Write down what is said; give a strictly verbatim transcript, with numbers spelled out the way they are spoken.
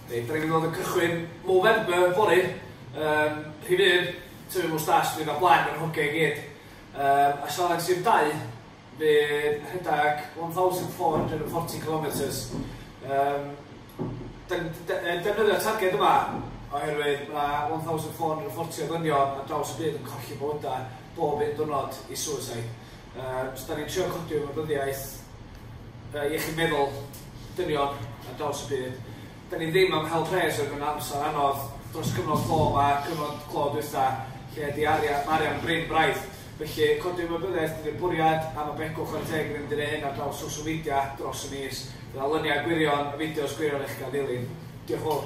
Reit, da ni'n mynd i fod yn cychwyn Movember fory. Um, rhif un, tyfu mwstash, fydd o blaen yr hogiau i gyd. Um, a challenge rhif dau, fydd rhedeg one thousand four hundred and forty kilometres. Um, defnyddio'r targed yma oherwydd mae one thousand four hundred and forty o ddynion ar draws y byd yn colli bywydau bob un diwrnod i suicide. Um, so da ni'n trio codi ymwybyddiaeth uh, iechyd meddwl dynion ar draws y byd. Da ni ddim am hel pres o'r mewn amser anodd dros cyfnod clo yma, cyfnod clo dwytha, lle di arian, arian brin braidd. Felly, codi ymwybyddiaeth ydy'r bwriad, a mae Begw chwarae teg yn mynd i wneud hyn ar draws social media dros y mis. Fydd luniau gwirion, a fideos gwirion eich gael ddilyn. Diolch yn fawr.